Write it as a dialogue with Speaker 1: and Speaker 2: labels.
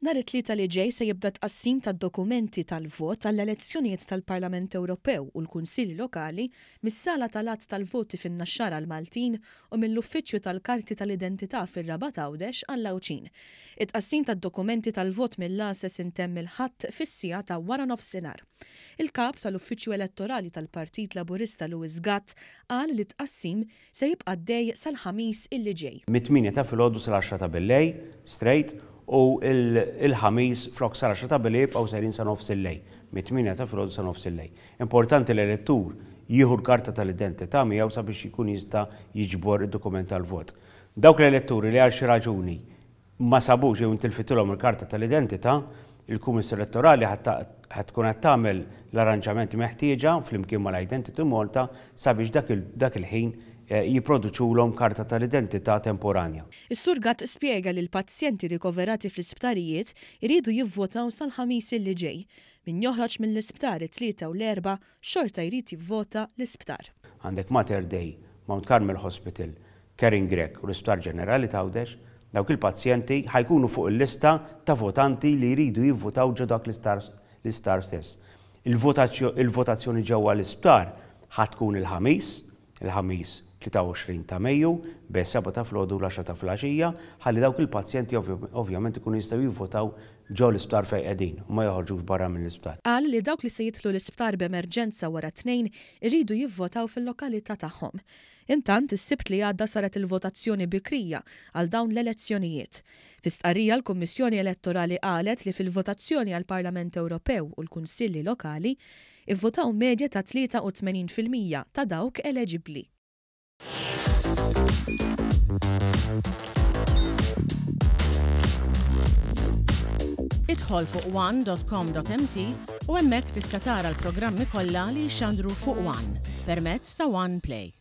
Speaker 1: Nhar it-Tlieta li ġej se jibda t-tqassim tad-dokumenti tal-vot għall-elezzjonijiet tal-Parlament Ewropew u l-Kunsilli Lokali mis-Sala tal-Għadd tal-Voti fin-Naxxar għall-Maltin u mill-Uffiċċju tal-Karti tal-Identità fir-Rabat Għawdex għall-Għawdxin. It-tqassim tad-dokumenti tal-vot mill-għases intemm il-Ħadd fis-siegħa ta' waranofsinhar. Il-Kap tal-Uffiċċju Elettorali tal-Partit Laburista Louis Gatt qal li t-tqassim se jibqa' għaddej sal-Ħamis illi ġej.
Speaker 2: Mit-tmienja ta' filgħodu sal-għaxra ta' billejl, straight, u l-Ħamis flok sal-għaxra ta' billejl jibqgħu sejrin sa nofs il-lejl, mit-tmienja ta' filgħodu sa nofs il-lejl. Importanti li l-elettur jieħu l-karta tal-identità miegħu sabiex jkun jista' jiġbor id-dokument tal-vot. Dawk l-eletturi li għal xi raġuni ma sabux jew intilfitilhom il-karta tal-identità, il-Kummissjoni Elettorali ħa tkun qed tagħmel l-arranġamenti meħtieġa flimkien mal-Identity Malta sabiex dak il-ħin jipproduċulhom karta tal-identità temporanja.
Speaker 1: Is-Sur Gatt spjega li l-pazjenti rikoverati fl-isptarijiet iridu jivvotaw sal-Ħamis illi ġej. Min joħroġ mill-isptar it-Tlieta u l-Erbgħa xorta jrid jivvota l-isptar.
Speaker 2: Għandek Mater Dei, Mount Carmel Hospital, Karen Grech u l-Isptar Ġenerali t'Għawdex, dawk il-pazjenti ħa jkunu fuq il-lista ta' votanti li jridu jivvutaw ġo dak l-isptar stess. Il-votazzjoni ġewwa l-isptar ħa tkun il-Ħamis, il-Ħamis 23 ta' Mejju, bejn is-sebgħa ta' filgħodu u l-għaxra ta' filgħaxija, ħalli dawk il-pazjenti ovvjament ikunu jistgħu jivvutaw ġo l-isptar fejn qegħdin u ma joħorġux barra mill-isptar.
Speaker 1: Qal li dawk li se jidħlu l-isptar b'emerġenza wara t-Tnejn iridu jivvotaw fil-lokalità tagħhom. Intant, is-Sibt li għadda saret il-votazzjoni bikrija għal dawn l-elezzjonijiet. Fi stqarrija l-Kummissjoni Elettorali qalet li fil-votazzjoni għall-Parlament Ewropew u l-Kunsilli Lokali, ivvotaw medja ta' 83% ta' dawk eleġibbli.
Speaker 3: Idħol fuq one dot com dot mt u hemmhekk tista' tara l-programmi kollha li jixxandru fuq one permezz ta' One Play.